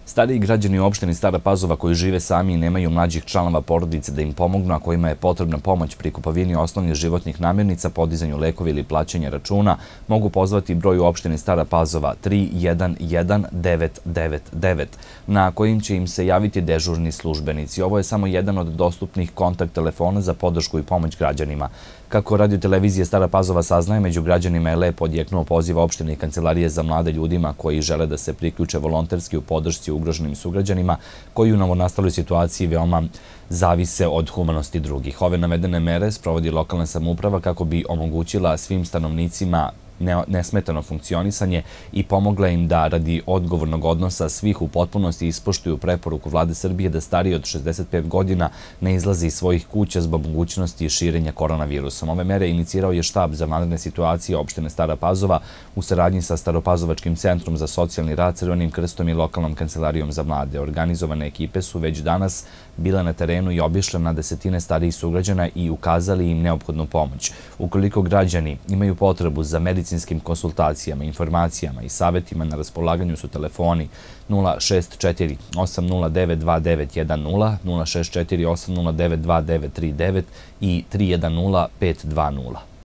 Stariji građani u opštini Stara Pazova koji žive sami i nemaju mlađih članova porodice da im pomognu, a kojima je potrebna pomoć pri kupovini osnovnih životnih namirnica, podizanju lekova ili plaćanja računa, mogu pozvati broj u opštini Stara Pazova 311999, na kojim će im se javiti dežurni službenici. Ovo je samo jedan od dostupnih kontakt telefona za podršku i pomoć građanima. Kako Radio-televizija Stara Pazova saznaje, među građanima je lepo odjeknuo poziv opštine i kancelarije za mlade ljudima koji žele da se priključe volonterski u podršci ugroženim sugrađanima koji u novonastaloj situaciji veoma zavise od humanosti drugih. Ove navedene mere sprovodi lokalna samouprava kako bi omogućila svim stanovnicima nesmetano funkcionisanje i pomogla im da radi odgovornog odnosa svih u potpunosti ispoštuju preporuku Vlade Srbije da stariji od 65 godina ne izlazi iz svojih kuća zbog mogućnosti širenja koronavirusom. Ove mere inicirao je štab za vanredne situacije opštine Stara Pazova u saradnji sa Staropazovačkim centrom za socijalni rad, Crvenim krstom i lokalnom kancelarijom za mlade. Organizovane ekipe su već danas bile na terenu i obišle na desetine starijih sugrađana i ukazali im neophodnu pomoć. Ukoliko građani imaju potrebu za medicinskim konsultacijama, informacijama i savjetima, na raspolaganju su telefoni 064 809 2910, 064 809 2939 i 310 520.